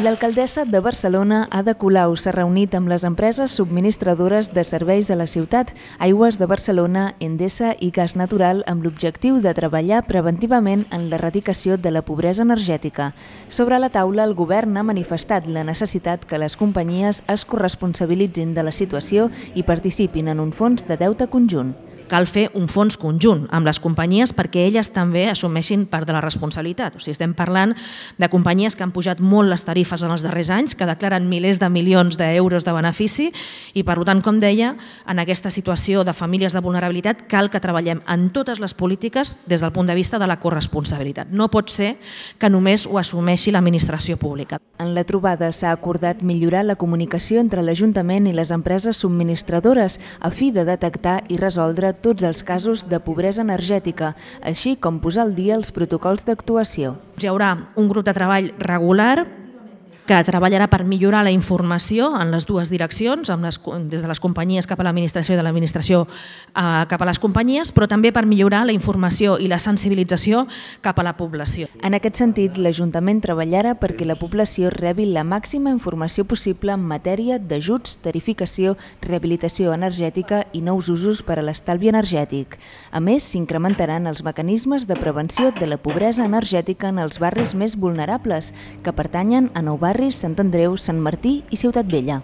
L'alcaldessa de Barcelona, Ada Colau, s'ha reunit amb les empreses subministradores de serveis de la ciutat, Aigües de Barcelona, Endesa i Gas Natural, amb l'objectiu de treballar preventivament en l'erradicació de la pobresa energètica. Sobre la taula, el govern ha manifestat la necessitat que les companyies es corresponsabilitzin de la situació i participin en un fons de deute conjunt. Cal fer un fons conjunt amb les companyies perquè elles també assumeixin part de la responsabilitat. O sigui, estem parlant de companyies que han pujat molt les tarifes en els darrers anys, que declaren milers de milions d'euros de benefici i, per tant, com deia, en aquesta situació de famílies de vulnerabilitat cal que treballem en totes les polítiques des del punt de vista de la corresponsabilitat. No pot ser que només ho assumeixi l'administració pública. En la trobada s'ha acordat millorar la comunicació entre l'Ajuntament i les empreses subministradores a fi de detectar i resoldre tots els casos de pobresa energètica, així com posar al dia els protocols d'actuació. Hi haurà un grup de treball regular que treballarà per millorar la informació en les dues direccions, des de les companyies cap a l'administració i de l'administració cap a les companyies, però també per millorar la informació i la sensibilització cap a la població. En aquest sentit, l'Ajuntament treballarà perquè la població rebi la màxima informació possible en matèria d'ajuts, tarificació, rehabilitació energètica i nous usos per a l'estalvi energètic. A més, s'incrementaran els mecanismes de prevenció de la pobresa energètica en els barris més vulnerables, que pertanyen a nou barris, Sant Andreu, Sant Martí i Ciutat Vella.